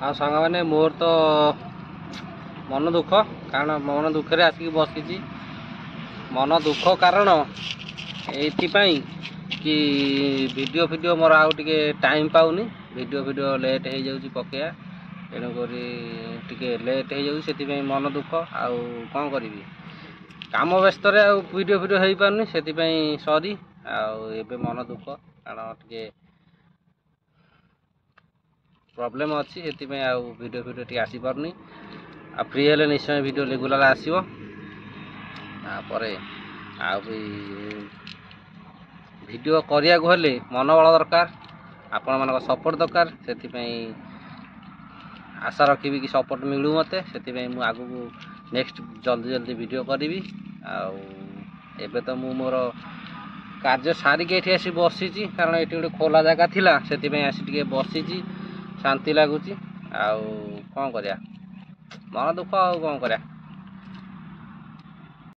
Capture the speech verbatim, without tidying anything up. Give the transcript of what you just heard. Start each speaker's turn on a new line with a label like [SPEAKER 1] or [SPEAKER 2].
[SPEAKER 1] ଆଉ ସାଙ୍ଗମାନେ, ମୋର ତ ମନ ଦୁଃଖ, କାରଣ ମନ ଦୁଃଖରେ ଆସିକି ବସିଛି। ମନ ଦୁଃଖ କାରଣ ଏଇଥିପାଇଁ କି ଭିଡ଼ିଓ ଫିଡ଼ିଓ ମୋର ଆଉ ଟିକେ ଟାଇମ୍ ପାଉନି। ଭିଡ଼ିଓ ଫିଡ଼ିଓ ଲେଟ୍ ହେଇଯାଉଛି ପକେଇବା, ତେଣୁକରି ଟିକେ ଲେଟ୍ ହେଇଯାଉଛି, ସେଥିପାଇଁ ମନ ଦୁଃଖ। ଆଉ କ'ଣ କରିବି, କାମ ବ୍ୟସ୍ତରେ ଆଉ ଭିଡ଼ିଓ ଫିଡ଼ିଓ ହେଇପାରୁନି, ସେଥିପାଇଁ ସରି। ଆଉ ଏବେ ମନ ଦୁଃଖ କାରଣ ଟିକେ ପ୍ରୋବ୍ଲେମ୍ ଅଛି, ସେଥିପାଇଁ ଆଉ ଭିଡ଼ିଓ ଫିଡ଼ିଓ ଟିକେ ଆସିପାରୁନି। ଆଉ ଫ୍ରି ହେଲେ ନିଶ୍ଚୟ ଭିଡ଼ିଓ ରେଗୁଲାର ଆସିବ। ତାପରେ ଆଉ ବି ଭିଡ଼ିଓ କରିବାକୁ ହେଲେ ମନୋବଳ ଦରକାର, ଆପଣମାନଙ୍କ ସପୋର୍ଟ ଦରକାର। ସେଥିପାଇଁ ଆଶା ରଖିବି କି ସପୋର୍ଟ ମିଳୁ ମୋତେ, ସେଥିପାଇଁ ମୁଁ ଆଗକୁ ନେକ୍ସଟ ଜଲ୍ଦି ଜଲ୍ଦି ଭିଡ଼ିଓ କରିବି। ଆଉ ଏବେ ତ ମୁଁ ମୋର କାର୍ଯ୍ୟ ସାରିକି ଏଠି ଆସି ବସିଛି, କାରଣ ଏଠି ଗୋଟେ ଖୋଲା ଜାଗା ଥିଲା, ସେଥିପାଇଁ ଆସି ଟିକେ ବସିଛି, ଶାନ୍ତି ଲାଗୁଛି। ଆଉ କ'ଣ କରିବା, ମନ ଦୁଃଖ, ଆଉ କ'ଣ କରିବା।